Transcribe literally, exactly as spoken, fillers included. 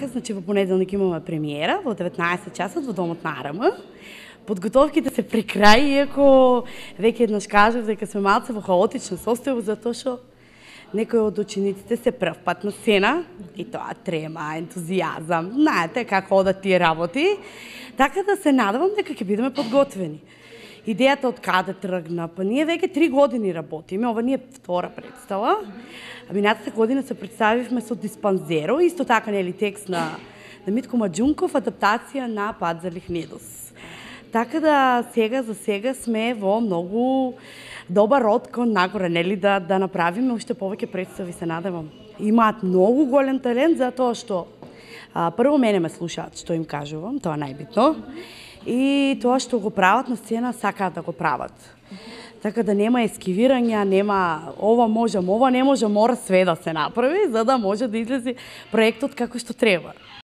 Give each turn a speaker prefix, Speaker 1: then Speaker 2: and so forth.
Speaker 1: Значи во понеделник имаме премиера во деветнаесет часот во домот на АРМ. Подготовките се при крај, иако веќе еднаш кажав дека сме малце во хаотична состојба, затоа што некои од учениците се прв пат на сцена и тоа трема, ентузијазам, знаете како одат тие работи, така да се надевам дека ќе бидеме подготвени. Идејата од каде тргна, па ние веќе три години работиме, ова не е втора представа. Минатата година се представивме со Диспанзеро, исто така нели текст на, на Митко Маџунков, адаптација на Пат за Лихнедус. Така да сега за сега сме во многу добар род кон нагоре, нели да да направиме уште повеќе представи, се надевам. Имаат многу голем талент затоа што а, прво мене ме слушаат што им кажувам, тоа најбитно. И тоа што го прават на сцена сакаат да го прават. Така да нема ескивирања, нема ова можам, ова не можам, мора све да се направи за да може да излезе проектот како што треба.